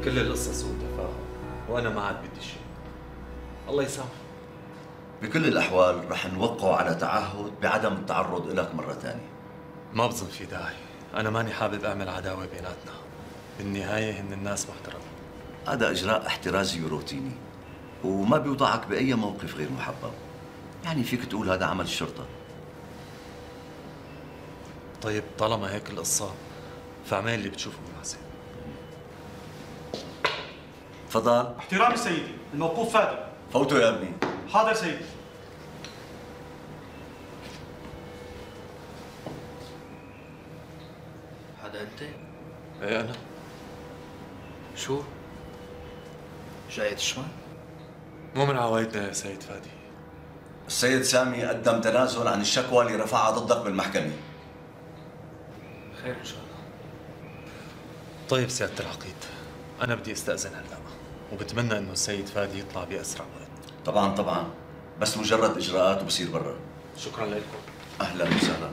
كل القصة سوء تفاهم وأنا ما عاد بدي شيء. الله يسامحك. بكل الأحوال رح نوقعوا على تعهد بعدم التعرض لك مرة ثانية. ما بظن في داعي، أنا ماني حابب أعمل عداوة بيناتنا. بالنهاية هن الناس محترمة. هذا إجراء احترازي وروتيني وما بيوضعك بأي موقف غير محبب. يعني فيك تقول هذا عمل الشرطة. طيب طالما هيك القصة فاعمل اللي بتشوفه مناسب. تفضل. احترامي سيدي، الموقوف فادي. فوتوا يا ابني. حاضر سيدي. هذا أنت؟ إيه أنا. شو؟ جاي تشمل؟ مو من عوايدنا يا سيد فادي. السيد سامي قدم تنازل عن الشكوى اللي رفعها ضدك بالمحكمة. خير إن شاء الله. طيب سيادة العقيد، أنا بدي استأذن هلأ وبتمنى إنه السيد فادي يطلع بأسرع وقت. طبعا بس مجرد إجراءات وبصير برا. شكرا لكم. أهلا وسهلا.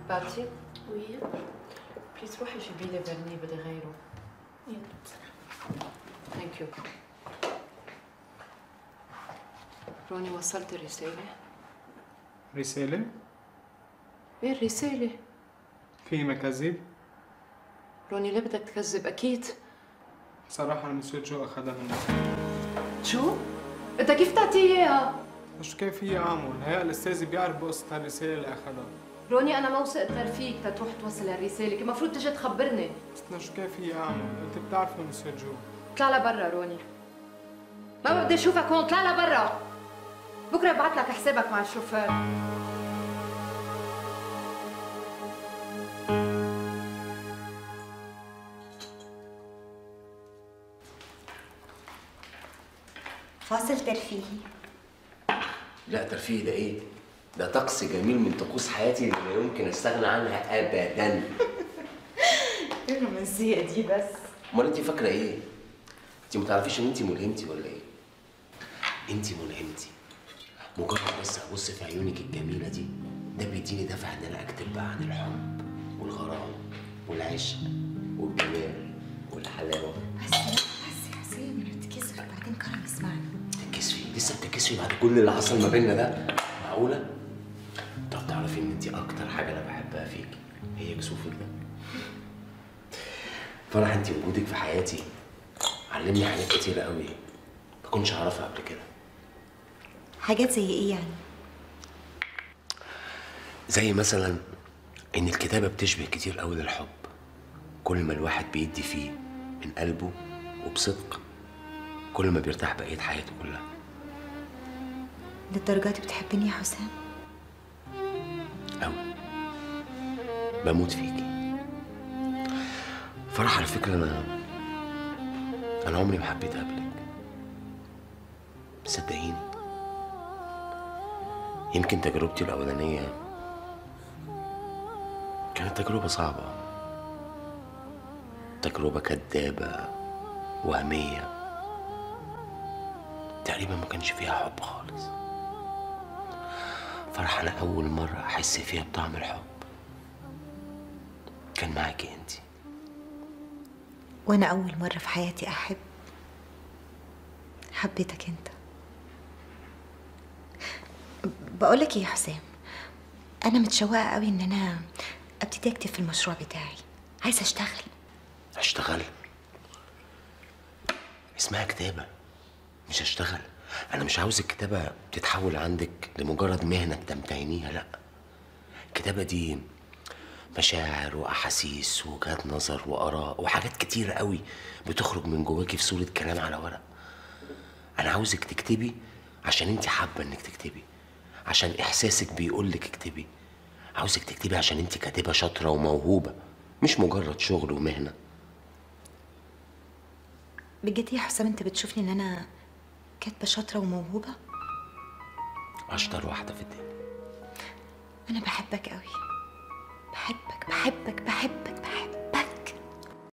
باتي؟ وي؟ بليز روحي جيبي لي فيرني بدي غيره. يلا. ثانك يو. روني وصلت الرسالة؟ رسالة؟ ايه الرسالة؟ في مكاذيب؟ روني ليه بدك تكذب؟ أكيد. صراحة المسيو جو أخذها مني. شو؟ أنت كيف تعطيه إياها؟ شو كيف في أعمل؟ هيا الأستاذ بيعرف بقصة هالرسالة اللي أخذها. روني أنا ما وثقت غير فيك تتروح توصل هالرسالة، كان المفروض تجي تخبرني. بس شو كيف في أعمل؟ أنت بتعرفي المسيو جو. اطلع لبرا روني. ما بدي أشوفك هون، اطلع لبرا. بكرة ببعث لك حسابك مع الشوفير. فاصل ترفيهي. لا ترفيه ده ايه؟ ده طقس جميل من طقوس حياتي اللي لا يمكن استغنى عنها ابدا. ايه الرومانسية دي بس؟ امال انت فاكره ايه؟ انت ما تعرفيش ان انت ملهمتي ولا ايه؟ انت ملهمتي. مجرد بس ابص في عيونك الجميله دي ده بيديني دافع ان انا اكتب بقى عن الحب والغرام والعشق والجمال والحلاوه. بس يا حسين بتتكسف بعدين كرم اسمعنا. تتكسفي؟ لسه بتتكسفي بعد كل اللي حصل ما بيننا ده؟ معقوله؟ طب تعرفي ان انت اكتر حاجه انا بحبها فيكي هي كسوفك ده. فرح انت وجودك في حياتي علمني حاجات كتيره قوي ما كنتش اعرفها قبل كده. حاجات زي ايه يعني؟ زي مثلا ان الكتابه بتشبه كتير قوي للحب. كل ما الواحد بيدي فيه من قلبه وبصدق كل ما بيرتاح بقيه حياته كلها. للدرجة دي بتحبني يا حسام؟ أوي. بموت فيكي. فرح على فكرة أنا عمري ما حبيت قبلك. صدقيني. يمكن تجربتي الأولانية كانت تجربة صعبة. تجربة كدابة وهمية. تقريبا ما كانش فيها حب خالص. فرح أنا أول مرة أحس فيها بطعم الحب كان معاكي أنتِ. وأنا أول مرة في حياتي أحب حبيتك أنت. بقولك إيه يا حسام، أنا متشوقة قوي إن أنا أبتدي أكتب في المشروع بتاعي. عايزة أشتغل. أشتغل؟ اسمها كتابة مش أشتغل. أنا مش عاوز الكتابة تتحول عندك لمجرد مهنة بتمتهنيها، لأ. الكتابة دي مشاعر وأحاسيس ووجهات نظر وآراء وحاجات كتيرة قوي بتخرج من جواكي في صورة كلام على ورق. أنا عاوزك تكتبي عشان أنت حابة إنك تكتبي، عشان إحساسك بيقولك اكتبي. عاوزك تكتبي عشان أنت كاتبة شاطرة وموهوبة، مش مجرد شغل ومهنة. بجد يا حسام انت بتشوفني ان انا كاتبه شاطره وموهوبه؟ اشطر واحده في الدنيا. انا بحبك قوي، بحبك بحبك بحبك بحبك.